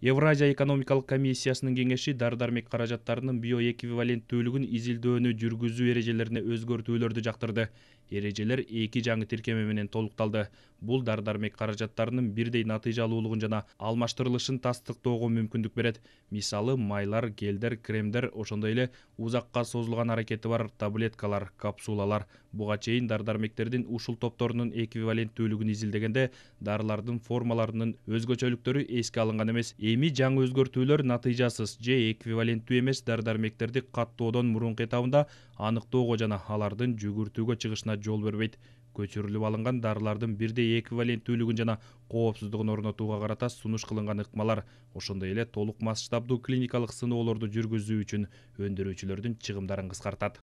Евразия экономикалык комиссиясынын кеңеши дары-дармек каражаттарынын биоэквиваленттүүлүгүн изилдөөнү жүргүзүү эрежелерине өзгөртүүлөрдү жактырды. Эрежелер 2 жаңы тиркеме менен толукталды. Бул дары-дармек каражаттарынын бирдей натыйжалуулугун жана алмаштырылышын тастыктоого мүмкүндүк берет. Мисалы, майлар, гелдер, кремдер, ошондой эле узакка созулган аракети бар таблеткалар, капсулалар. Буга чейин дары-дармектердин ушул топторунун эквиваленттүүлүгүн изилдегенде дарылардын формаларынын өзгөчөлүктөрү эске алынган эмес. Эми жаңы өзгөртүүлөр натыйжасыз же эквиваленттүү эмес дары-дармектерди каттоодон мурунку этабында аныктоого жана алардын жүгүртүүгө чыгышына жол бербейт. Көчүрүлүп алынган дарылардын бирдей эквиваленттүүлүгүн жана коопсуздугун орнотууга карата сунуш кылынган ыкмалар, ошондой эле толук масштабдуу клиникалык сыноолорду жүргүзүү үчүн өндүрүүчүлөрдүн чыгымдарын кыскартат.